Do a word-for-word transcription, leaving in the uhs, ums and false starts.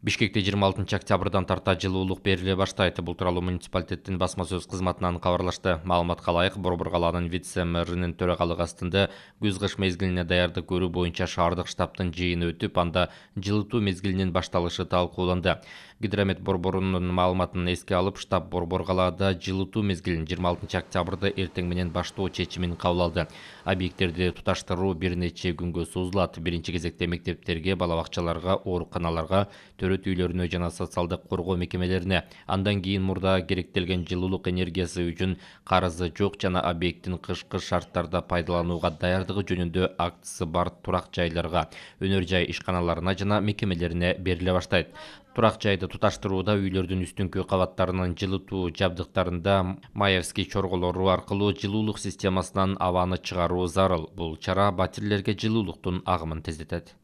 Бишкекте жыйырма алтынчы октябрдан тарта жылуулук бериле баштайт. Бул тууралуу муниципалитеттин басма сөз кызматынан кабарлашты. Маалыматка ылайык, Борбор калаанын вице-мэринин төрагалыгы астында күз-кыш мезгилине даярдык көрүү боюнча шаардык штабтын жыйыны өтүп, анда жылытуу мезгилинин башталышы талкууланды. Гидромет борборунун маалыматын эске алып, штаб Борбор калаада жылытуу мезгилин жыйырма алтынчы октябрда эртең менен баштоо чечимин кабыл алды. Объекттерди туташтыруу бир нече күнгө созулат. Биринчи кезекте мектептерге, бала бакчаларга, ооруканаларга, төрөт үйлөрүнө жана социалдык коргоо мекемелерине, андан кийин мурда керектелген жылуулук энергиясы үчүн карызы жок жана объекттин кышкы шарттарда пайдаланууга даярдыгы жөнүндө актысы бар турак жайларга, өнөр жай ишканаларына жана мекемелерине бериле баштайт. Турак жайды туташтырууда үйлөрдүн үстүңкү кабаттарынын жылытуу жабдыктарында Маевский чорголору аркылуу жылуулук системасынан абаны чыгаруу зарыл. Бул чара батирлерге жылуулуктун агымын тездетет.